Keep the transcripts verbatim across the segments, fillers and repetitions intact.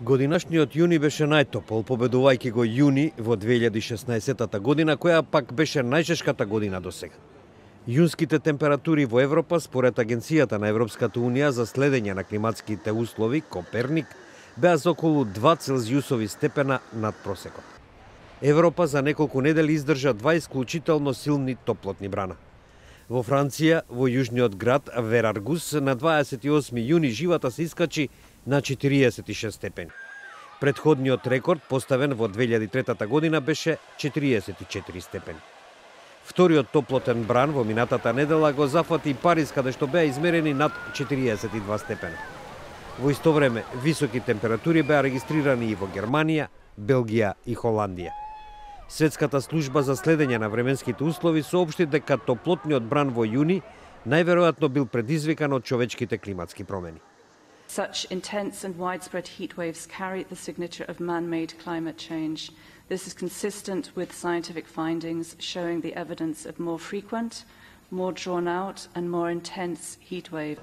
Годинашниот јуни беше најтопол, победувајќи го јуни во две илјади и шеснаесетта година, која пак беше најжешката година до сега. Јунските температури во Европа, според Агенцијата на Европската унија за следење на климатските услови, Коперник, беа за околу два целзиусови степена над просекот. Европа за неколку недели издржа два исклучително силни топлотни брана. Во Франција, во јужниот град Вераргус, на дваесет и осми јуни живата се искачи на четириесет и шест степени. Предходниот рекорд, поставен во две илјади и трета година, беше четириесет и четири степени. Вториот топлотен бран во минатата недела го зафати и Париз, каде што беа измерени над четириесет и два степена. Во исто време, високи температури беа регистрирани и во Германија, Белгија и Холандија. Светската служба за следење на временските услови соопшти дека топлотниот бран во јуни најверојатно бил предизвикан од човечките климатски промени. Such intense and widespread heat waves carry the signature of man-made climate change. This is consistent with scientific findings showing the evidence of more frequent, more drawn-out and more intense heat wave.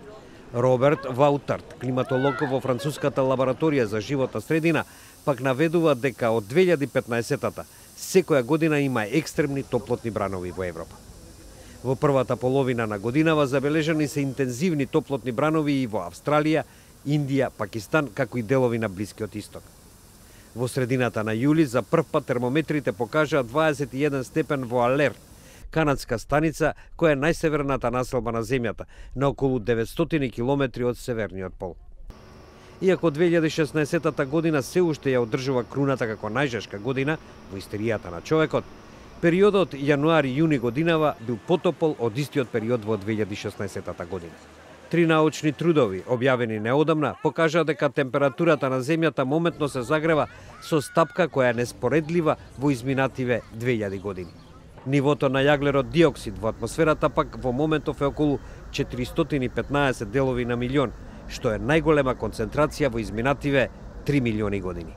Роберт Ваутард, климатолог во француската лабораторија за животна средина, пак наведува дека од две илјади и петнаесетта секоја година има екстремни топлотни бранови во Европа. Во првата половина на годинава забележани се интензивни топлотни бранови и во Австралија, Индија, Пакистан, како и делови на Блискиот Исток. Во средината на јули за прв пат термометрите покажаа дваесет и еден степен во Алерт, канадска станица која е најсеверната населба на земјата, на околу деветстотини километри од северниот пол. Иако две илјади и шеснаесетта година се уште ја одржува круната како најжешка година во историјата на човекот, периодот јануари-јуни годинава бил потопол од истиот период во две илјади и шеснаесетта година. Три научни трудови, објавени неодамна, покажаа дека температурата на земјата моментно се загрева со стапка која е неспоредлива во изминативе две илјади години. Нивото на јаглерод диоксид во атмосферата пак во моментов е околу четиристотини и петнаесет делови на милион, што е најголема концентрација во изминативе три милиони години.